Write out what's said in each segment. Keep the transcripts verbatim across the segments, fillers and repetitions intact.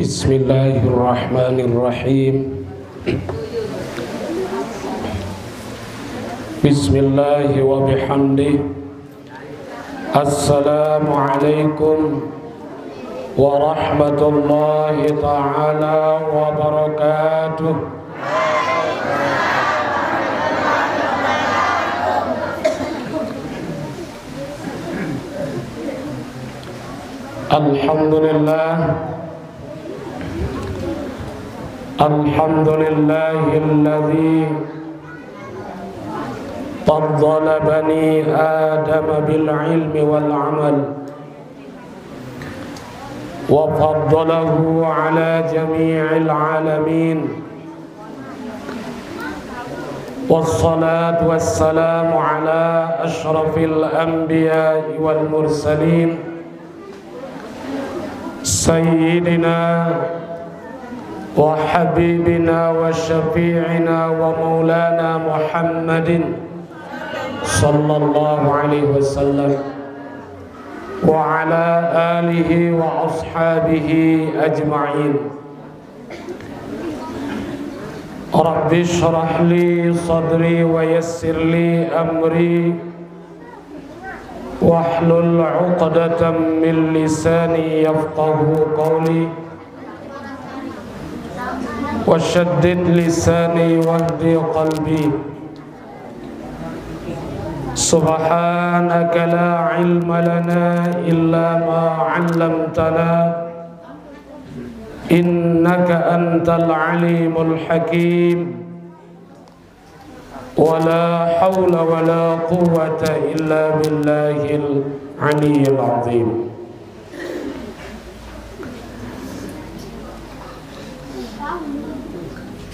بسم الله الرحمن الرحيم. بسم الله وبحمده. السلام عليكم ورحمة الله تعالى وبركاته. الحمد لله. الحمد لله الذي فضل بني آدم بالعلم والعمل، وفضله على جميع العالمين، والصلاة والسلام على أشرف الأنبياء والمرسلين، سيدنا وحبيبنا وشفيعنا ومولانا محمد صلى الله عليه وسلم، وعلى آله وأصحابه أجمعين. رب اشرح لي صدري ويسر لي أمري واحلل عقدة من لساني يفقه قولي وشدد لساني واهد قلبي. سبحانك لا علم لنا إلا ما علمتنا إنك أنت العليم الحكيم. ولا حول ولا قوة إلا بالله العلي العظيم.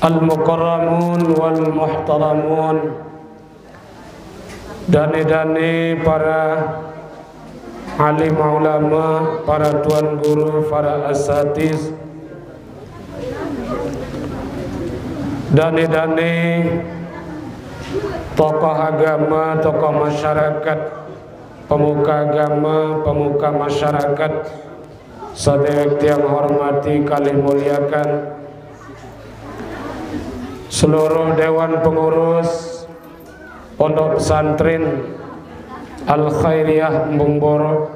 المكرمون والمحترمون، dane-dane para alim ulama, para tuan guru, para asatiz, dane-dane tokoh agama, tokoh masyarakat, pemuka agama, pemuka masyarakat, sadaya tiang hormati kalih muliakan, seluruh dewan pengurus Pondok Pesantren Al Khairiyah Embung Borok,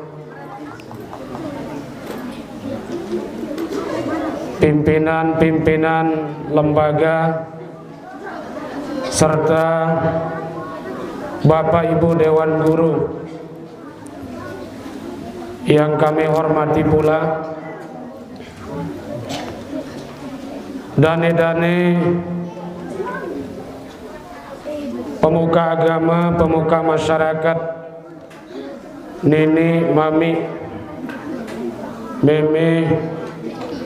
pimpinan-pimpinan lembaga, serta Bapak Ibu Dewan Guru yang kami hormati pula, dane-dane pemuka agama, pemuka masyarakat, nini, mami, meme,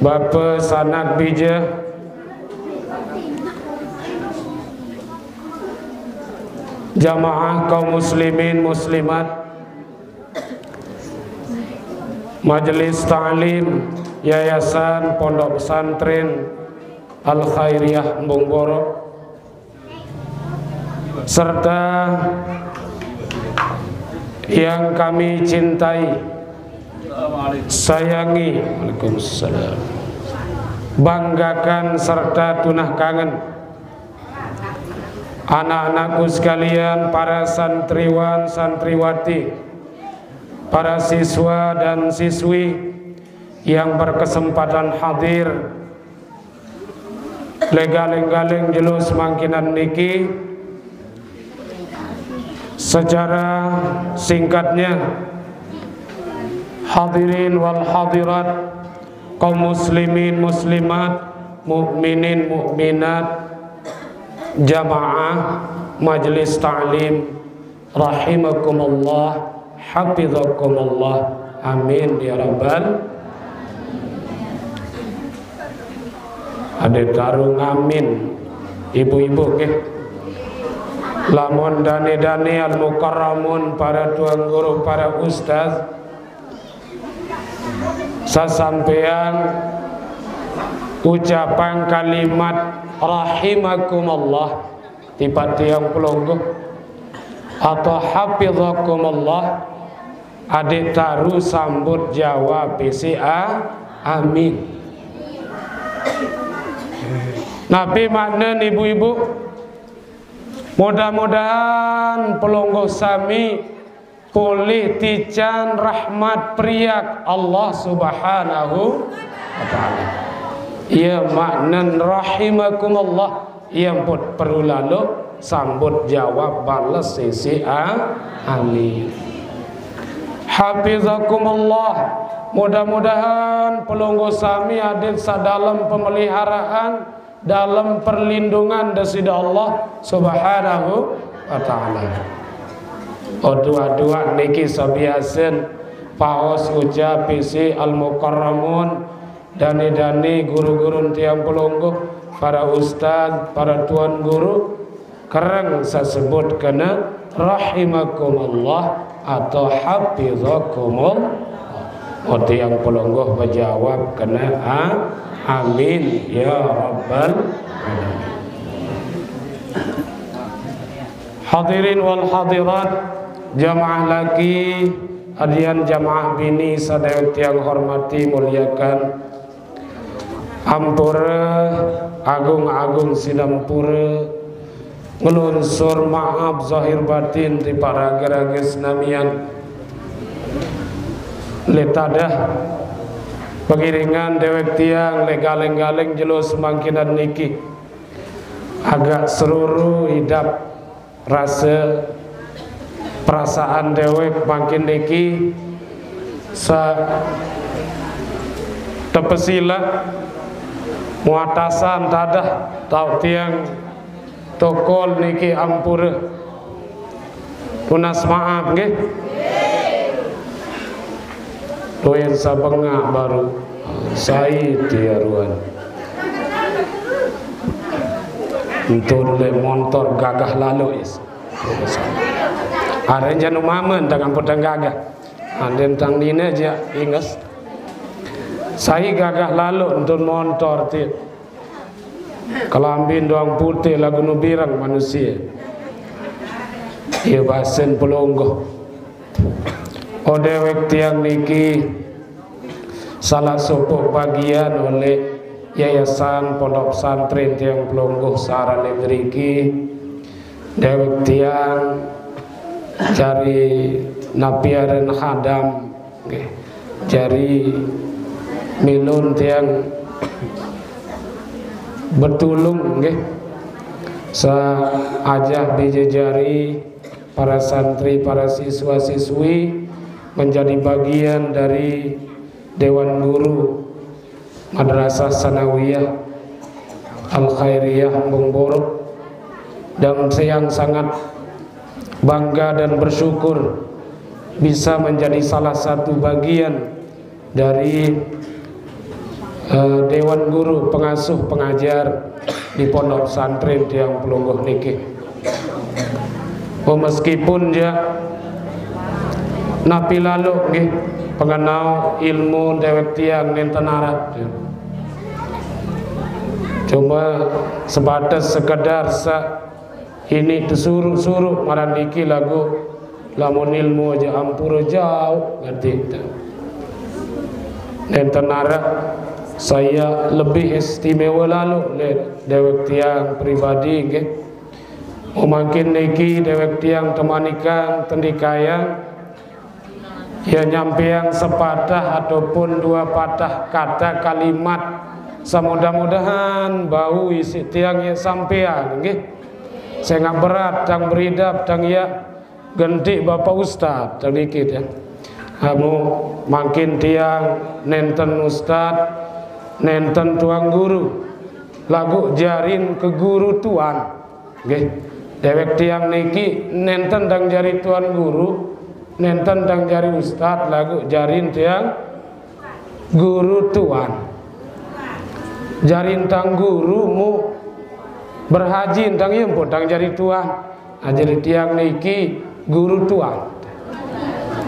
bapa, sanak, bija, jamaah kaum muslimin muslimat, Majelis Ta'lim Yayasan Pondok Pesantren Al Khairiyah Embung Borok, serta yang kami cintai, sayangi, Waalaikumsalam, banggakan serta tunah kangen, anak-anakku sekalian, para santriwan, santriwati, para siswa dan siswi yang berkesempatan hadir, legaling-galing jelo samangkinan niki. Secara singkatnya, hadirin wal hadirat, kaum muslimin muslimat, mukminin mukminat, jamaah majelis ta'lim rahimakumullah, hafizakumullah. Amin ya rabbal. Ade taru ngamin, ibu-ibu nggih. Lamun dane-dane al-mukarramun, para tuan guru, para ustaz, sasampean ucapan kalimat rahimakumullah, tipat tiang pelungguh, atau hafizakumullah, ade taru sambut jawab B C A, amin. Napi maknen ibu-ibu? Mudah-mudahan pelungguh sami polih tican rahmat periak Allah Subhanahu wa Ta'ala. Iya maknen rahimakumullah, iya pun perlu lalu sambut jawab bales sisi a-, amin. Hafizakumullah, mudah-mudahan pelungguh sami adit sadalem pemeliharaan, dalem perlindungan Dasida Allah Subhanahu wa Ta'ala. Oduak-duak niki sabiasen paos ucap isi al-mukarramun, dane-dane guru-guru tiang pelungguh, para ustaz, para tuan guru, kereng sasebut kena rahimakumullah atau hafizakumullah. Oh, tiang pelungguh bejawab kena a-, amin ya rabbal alamin. Hadirin wal hadirat, jamaah laki, adian jamaah bini sadaya tiang hormati muliakan. Ampura, agung-agung sinampura, ngelunsur maaf zahir batin ti para raga-raga senamian. Le tadah pengiringan dewek tiang le galeng-galeng jelo semangkinan niki. Agak seruru idap rasa perasaan dewek mangkin niki sa tepesila muatasan tadah tau tiang tokol niki ampura. Tunas maaf nggih. Tuin sabengak baru. Sai tiaruan. Entun le montor gagah lalu is. Are janu mamen tangan petang gagah. Anden tang dina ja inges. Sai gagah lalu entun montor ti. Kelambin doang putih lagu nu birang manusia. Iya basen pelungguh. Oh dewek tiang niki salah sopok bagian oleh Yayasan Pondok Pesantren tiang pelungguh sara le driki. Dewek tiang jari napi aren hadam nggih. Jari milun tiang betulung nggih. Saajah bija jari para santri, para siswa-siswi menjadi bagian dari Dewan Guru Madrasah Sanawiyah Al Khairiyah Embung Borok, dan saya sangat bangga dan bersyukur bisa menjadi salah satu bagian dari eh, Dewan Guru Pengasuh Pengajar di Pondok Pesantren tiang pelungguh niki. Oh, meskipun ja napi lalu nggih pengenau ilmu dewek tiang nenten arat. Cuma sebatas sekedar sa ini tesuruh-suruh marandiki lagu lamun ilmu aja ampura jauh ngerti. Nenten arat saya lebih istimewa lalu le dewek tiang pribadi nggih. Mangkin niki dewek tiang temanikang tendikayang ya nyampeang sepatah ataupun dua patah kata kalimat. Samudah-mudahan bau isi tiang ya sampeang nggih. Sangat berat tang beridap tang ya genti Bapak Ustaz tang dikit ya. Kamu mangkin tiang nenten ustaz, nenten tuang guru. Lagu jarin ke guru tuan. Nggih. Dewek tiang niki nenten dang jari tuan guru, nenten dang jari ustaz, lagu jarin tiang guru tuan. Jarin tang guru mu berhaji tang iya pun tang jari tuan. Ah, jari tiang niki guru tuan.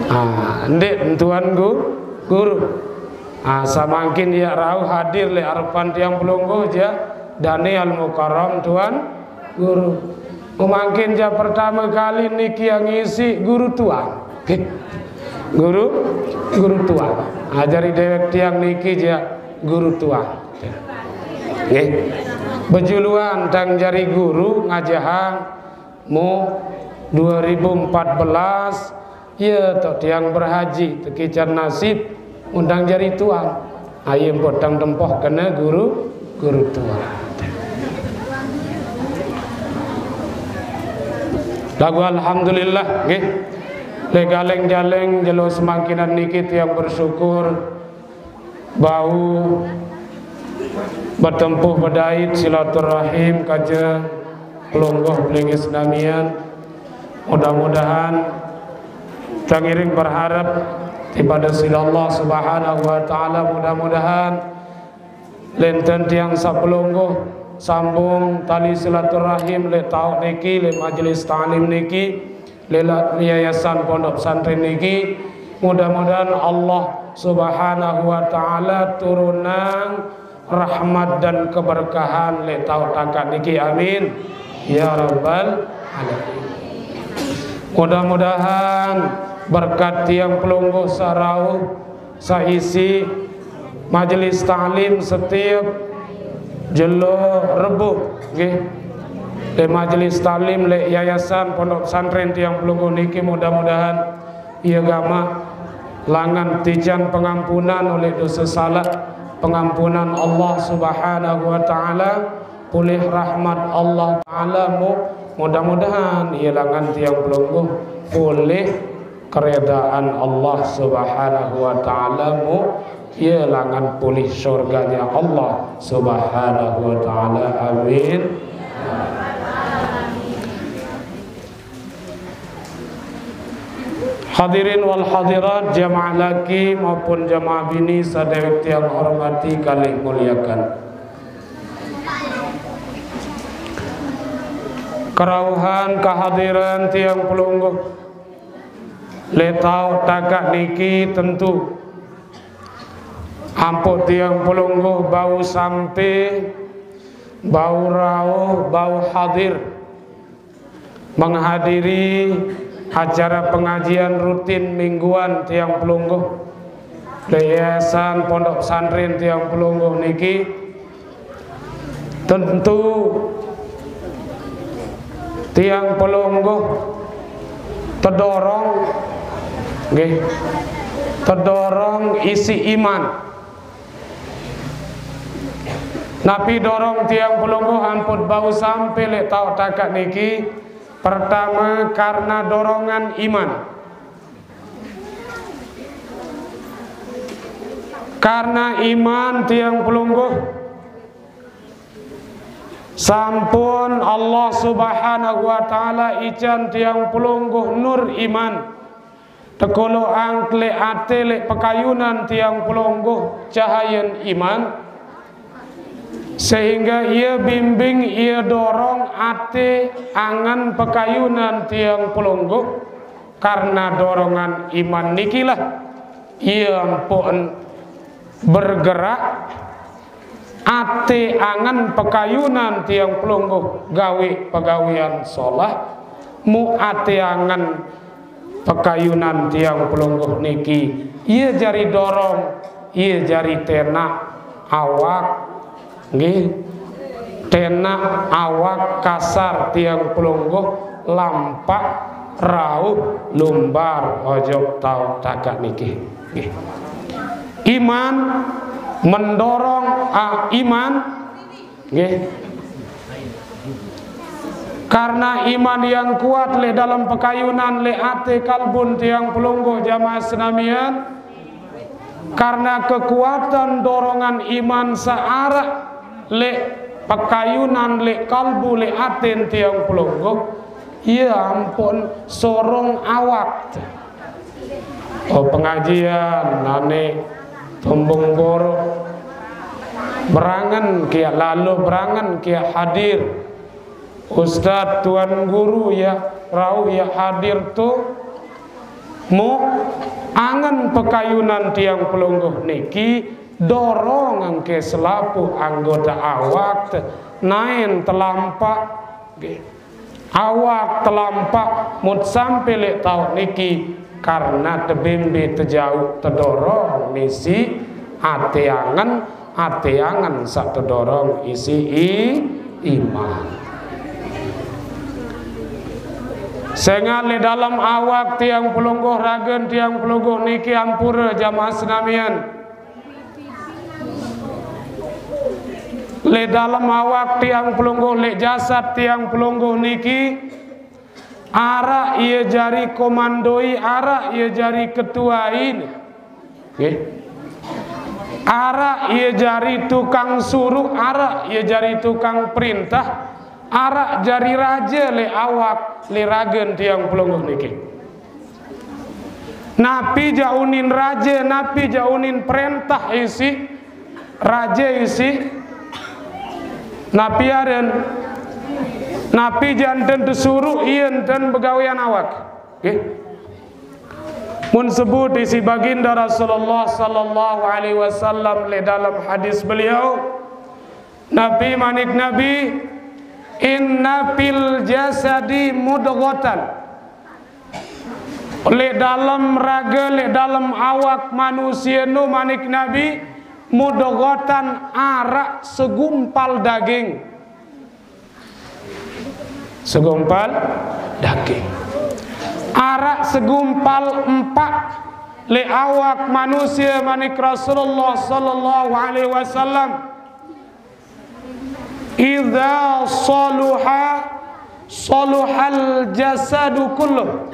Ah, ndik tuan gu-, guru. Ah, samangkin ya rauh hadir le arepan tiang pelungguh ja Daniel Mukarram tuan guru. Mangkin ja pertama kali niki yang ngisi guru tuan. Guru, guru tuan. Ajari dewek tiang niki ja guru tuan. Nggih. Bejuluan tang jari guru ngajahang, mu dua ribu empat belas, ya, tok tiang berhaji, tekican nasib undang jari tuan. Aye mpok tang tempoh kena guru, guru tuan. Lagu alhamdulillah, nggih. Le galeng-jaleng jelo semangkinan niki tiang bersyukur bau betempuh bedait silaturahim kaja pelungguh belinggih senamian. Mudah-mudahan tangiring berharap dipada sila Allah Subhanahu wa Ta'ala, mudah-mudahan lenten tiang sapelungguh sambung tali silaturahim le tauk niki, le majelis taklim niki, le la-, yayasan pondok pesantren niki. Mudah-mudahan Allah Subhanahu wa Ta'ala turunang rahmat dan keberkahan le tauk takat niki. Amin ya rabbal alamin. Mudah-mudahan berkat tiang pelungguh sarauh saisi majelis taklim setiap jelo Rebu, nggih. Le majelis taklim le yayasan pondok pesantren tiang pelungguh niki, mudah-mudahan ia gamak langan tijan pengampunan oleh dosa salah, pengampunan Allah Subhanahu wa Ta'ala, pulih rahmat Allah Ta'ala, mu, mudah-mudahan ia langan tiang pelungguh pulih keredaan Allah Subhanahu wa Ta'ala, mu, ia langan pulih surganya Allah Subhanahu wa Ta'ala. Amin. Hadirin wal hadirat, jamaah laki maupun jamaah bini sadaya tiang hormati kalih muliakan. Kerauhan kehadiran tiang pelungguh le tauk takat niki tentu ampuk tiang pelungguh bau sampe, bau rauh, bau hadir menghadiri acara pengajian rutin mingguan tiang pelungguh le yayasan pondok pesantren tiang pelungguh niki. Tentu tiang pelungguh tedorong, nggih, tedorong isi iman. Napi dorong tiang pelungguh ampun bau sampe le tauk takat niki? Pertama, karena dorongan iman. Karena iman tiang pelungguh sampun Allah Subhanahu wa Ta'ala ican tiang pelungguh nur iman. Tekolo angkle ate le pekayunan tiang pelungguh cahayan iman, sehingga ia bimbing, ia dorong ate angan pekayunan tiang pelungguh. Karena dorongan iman nikilah ia empun bergerak, ate angan pekayunan tiang pelungguh gawe pegawean solah, mu ate angan pekayunan tiang pelungguh niki, ia jari dorong, ia jari tenak awak, nggih, tenak awak kasar tiang pelungguh lampak rauh lumbar ojok tauk takat niki. Nggih. Iman mendorong, ah, iman, nggih. Karena iman yang kuat le dalam pekayunan le ate kalbun tiang pelungguh jamaah senamian, karena kekuatan dorongan iman searak le pekayunan le kalbu le aten tiang pelungguh, ia ampun sorong awak. Oh, pengajian, nane tumbung borok. Berangen kiak lalu, berangen kiak hadir. Ustaz, tuan guru, ya, rauh, ya, hadir tu. Mu angen pekayunan tiang pelungguh niki, dorong engke selapuh anggota awak te, naen telampak. Nggih. Awak telampak mut sampe lek tauk niki karena tebembe tejauh tedorong misi ate angen, ate angen sak tedorong isi i-, iman. Sengaq leq dalem awak tiang pelungguh, ragen tiang pelungguh niki ampure jamaah senamian. Leq dalem awak tiang pelungguh, leq jasad tiang pelungguh niki, araq ie jari komandoi, araq ie jari ketuai. Nggih. Araq ie jari tukang suruq, araq ie jari tukang perintah, araq jari raje leq awak, leq ragen tiang pelungguh niki. Napi jaq unin raje, napi jaq unin perintah isiq, raje isiq, napi aren, napi jaq enten tesuruq ie enten begawean awak. Nggih. Mun sebut isiq Baginda Rasulullah sallallahu alaihi wasallam leq dalem hadis beliau, Nabi manik Nabi, "Inna fil jasadi mudghatan." Leq dalem rage, leq dalem awak manusie nu manik Nabi, mudghatan araq segumpal daging. Segumpal daging. Araq segumpal empaq leq awak manusie manik Rasulullah sallallahu alaihi wasallam. Idza saluha, saluhal jasadu kulluh.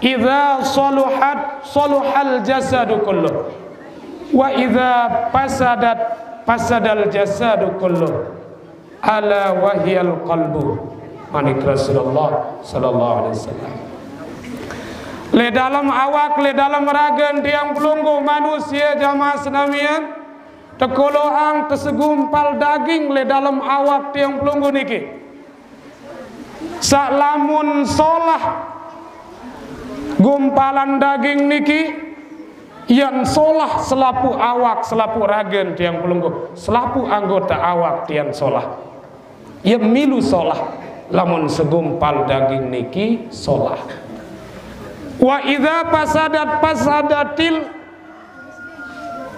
Idza saluhat, saluhal jasadu kulluh. Wa idza fasadat, fasadal jasadu kulluh. Ala wahiyal qalbu. Manik Rasulullah sallallahu alaihi wasallam. Leq dalem awak, leq dalem ragen tiang pelungguh manusie jamaah senamian, tekoloqang tesegumpal daging leq dalem awak tiang pelungguh niki. Saq lamun solah gumpalan daging niki, ie solah selapuq awak, selapuq ragen tiang pelungguh, selapuq anggote awak tiang solah. Ie milu solah lamun segumpal daging niki solah. Wa idza fasadat fasadatil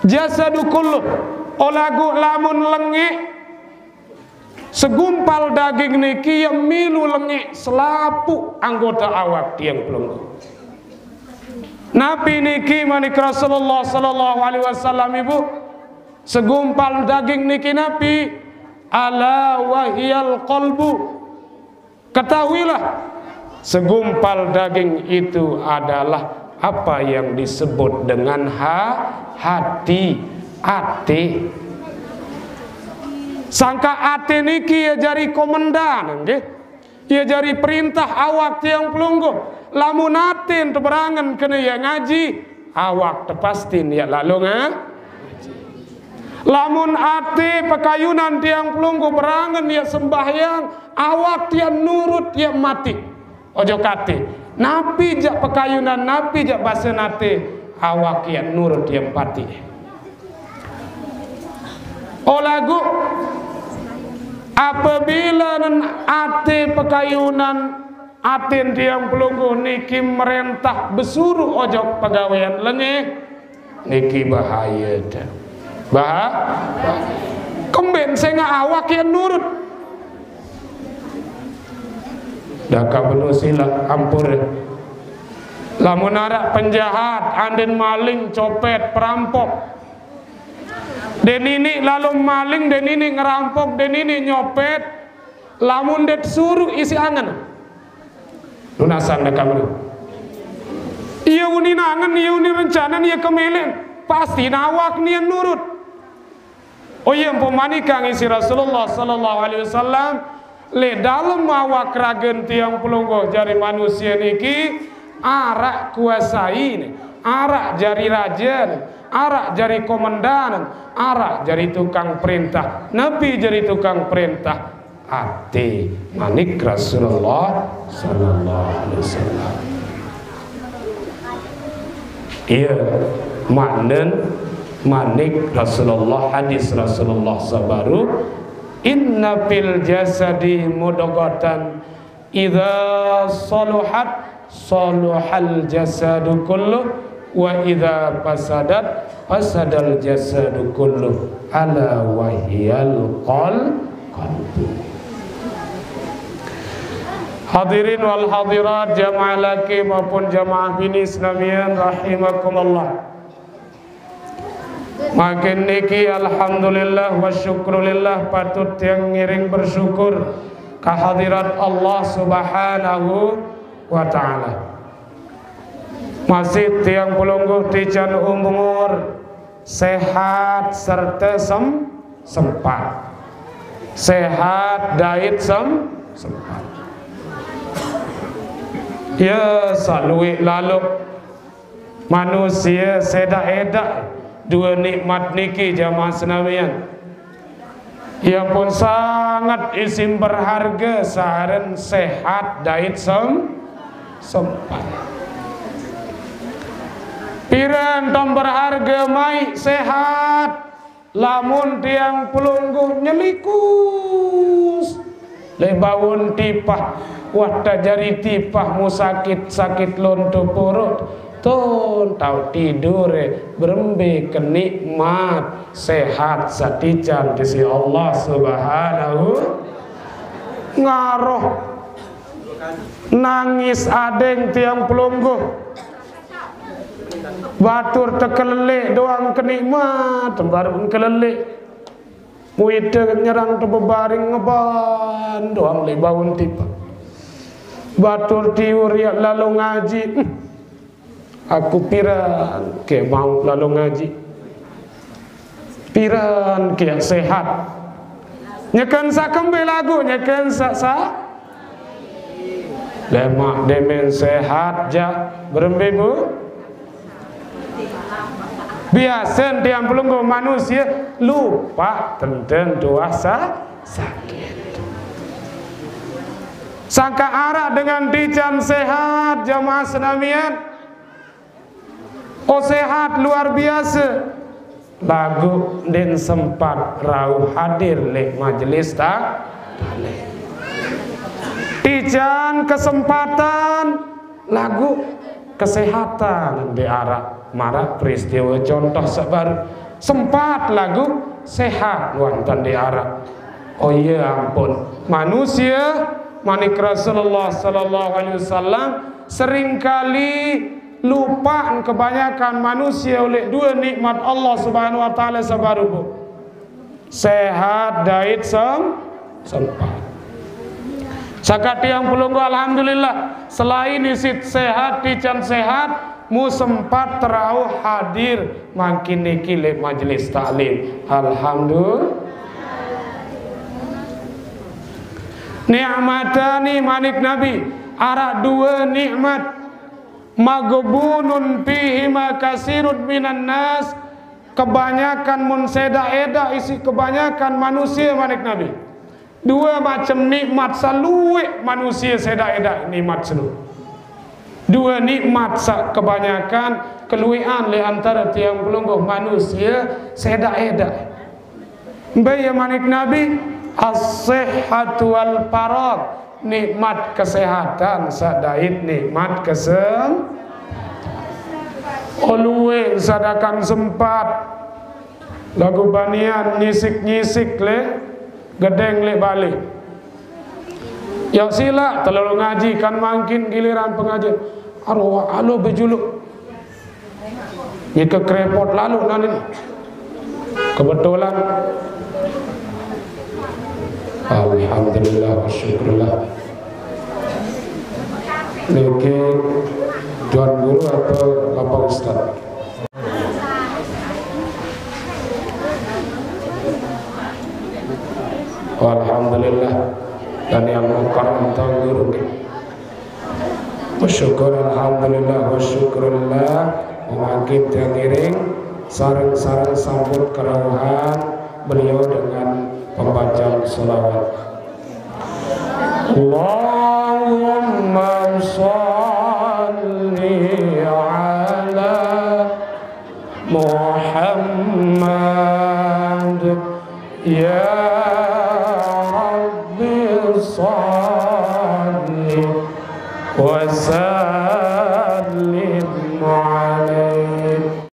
jasadu kulluh. Olaguq lamun lengeq segumpal daging niki, ie milu lengeq selapuq anggote awak tiang pelungguh. Napi niki manik Rasulullah sallallahu alaihi wasallam, Ibu? Segumpal daging niki napi? Ala wahiyal qalbu. Ketahuilah, segumpal daging itu adalah apa yang disebut dengan ha-, hati, ate. Sangkaq ate niki ie jari komendan, nggih. Ie jari perintah awak tiang pelungguh. Lamun aten teberangen kene ie ngaji, awak tepastin ie lalo nga-, Lamun ate pekayunan tiang pelungguh berangen ie sembahyang, awak tiang nurut ie mati. Ojok ate. Napi jaq pekayunan, napi jaq basen ate, awak ie nurut ie pati. Olaguq apabila nen ate pekayunan, aten tiang pelungguh niki merentah besuruq ojok pegawean lengeq, niki bahaye te. Bah-, kemben sengaq awak ie nurut. Dakaq beno silaq ampure. Lamun araq penjahat, anden maling, copet, perampok, de niniq lalo maling, de niniq ngerampok, de niniq nyopet, lamun ndeq tesuruq isiq angen, nunasan dakaq beno. Ie unin angen, ie unin rencane, ie kemeleq, pasti awak nie nurut. Oh, ie mpomanikang isiq Rasulullah sallallahu alaihi wasallam, leq dalem awak ragen tiang pelungguh jari manusie niki araq kuasaine, araq jari rajene, araq jari komendanen, araq jari tukang perintah. Napi jari tukang perintah? Ate, manik Rasulullah sallallahu alaihi wasallam. Ie, maknen, manik Rasulullah, hadis Rasulullah saq baruq, "Inna fil jasadi mudghatan, idza saluhat, saluhal jasadu kulluh, wa idza fasadat, fasadal jasadu kulluh, ala wahiyal qal-, qalbu." Hadirin wal hadirat, jamaah laki maupun jamaah bini senamian rahimakumullah. Mangkin niki alhamdulillah wa syukrulillah, patut tiang ngiring bersyukur ka hadirat Allah Subhanahu wa taala. Masih tiang pelungguh tican umur sehat serta sem-, sempat. Sehat dait sem-, sempat. Ya, saluik laluk manusia sedak-edak dua nikmat niki, jamaah senamian. Ia pun sangat isim berharga saren sehat dait sem-, sempat. Piran tom berharga mai sehat, lamun tiang pelungguh nyelikus leq baun tipah, wah tajari tipah mu sakit, sakit lonto purut, tun tau tidur, berembe kenikmat sehat satican disi Allah Subhanahu. Ngaroh nangis adeng tiang pelungguh. Batur tekeleleq doang kenikmat, baru keleleq. Muite nyerang tebebaring ngeban doang leq baun tipah. Batur tiur yaq lalo ngaji. Aku piran ke mauq lalo ngaji. Piran ke sehat. Nyeken saq kembe laguq, nyeken saq sa-, lemaq demen sehat jaq berembe, Bu? Biasen tiang pelungguh manusie lupaq tenten tuah sa-, sakit. Sangkaq araq dengan tican sehat, jamaah senamian. Oh, sehat luar biase. Laguq ndeqn sempat rauh hadir leq majelis ta-, taklim. Tican kesempatan, laguq kesehatan ndeq araq. Maraq peristiwe contoh saq baruq. Sempat laguq sehat wah ntan ndeq araq. Oh, iye ampun. Manusie, manik Rasulullah sallallahu alaihi wasallam, seringkali lupaq kebanyakan manusie oleh due nikmat Allah Subhanahu wa Ta'ala saq baruq, Bu. Sehat dait sem-, sempat. Sangkaq tiang pelungguh, alhamdulillah, selain isiq sehat, tican sehat, mu sempat terauh hadir mangkin niki leq majelis taklim. Alhamdulillah. Ni'matani, manik Nabi, araq due nikmat, maghbunun fihima katsirun minan nas, kebanyakan mun sedak-edak isiq kebanyakan manusie, manik Nabi. Due macem nikmat saq lueq manusie sedak-edak nikmat seno. Due nikmat saq kebanyakan kelueqan leq antare tiang pelungguh manusie sedak-edak. Mbe ie manik Nabi? As-sihhatu wal faragh, nikmat kesehatan saq dait nikmat kesem-, oh, lueq sadakan sempat. Laguq banian nyisik-nyisik leq gedeng leq bale. Yaq silaq telolo ngaji, kan mangkin giliran pengajian. Aroh alo bejuluq. Nike kerepot lalo nanin. Kebetulan. Alhamdulillah wa syukurillah. Niki Tuan Guru atau Bapak Ustaz? Alhamdulillah. Dan yang mukarram Tuan Guru. Bersyukur, alhamdulillah, wa syukurillah. Mangkin tiang iring sareng-sareng sambut kerauhan beliau dengan pembacaan selawat. Allahumma shalli ala Muhammad. Ya Rabbi shalli wa sallim.